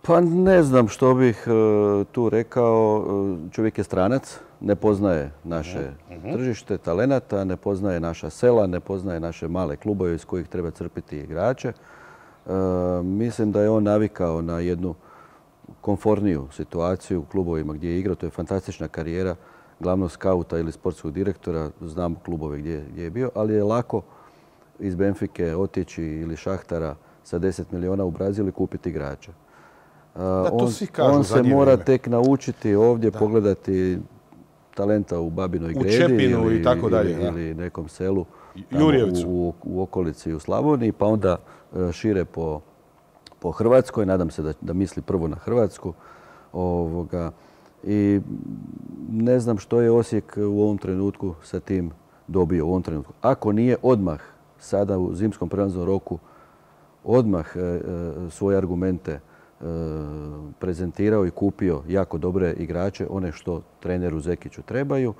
Pa ne znam što bih tu rekao. Čovjek je stranac, ne poznaje naše tržište talenata, ne poznaje naša sela, ne poznaje naše male klubove iz kojih treba crpiti igrače. Mislim da je on navikao na jednu komforniju situaciju u klubovima gdje je igrao. To je fantastična karijera glavnog skauta ili sportskog direktora. Znam klubove gdje je bio, ali je lako iz Benfike otići ili Šahtara sa 10 milijuna u Brazil i kupiti igrača. On se mora tek naučiti ovdje pogledati talenta u Babinoj Gredi Čepinu i tako dalje, ili nekom selu u okolici u Slavoniji, pa onda šire po Hrvatskoj. Nadam se da misli prvo na Hrvatsku. I ne znam što je Osijek u ovom trenutku sa tim dobio. U ovom trenutku. Ako nije odmah sada u zimskom prelaznom roku odmah svoje argumente prezentirao i kupio jako dobre igrače, one što treneru Zekiću trebaju,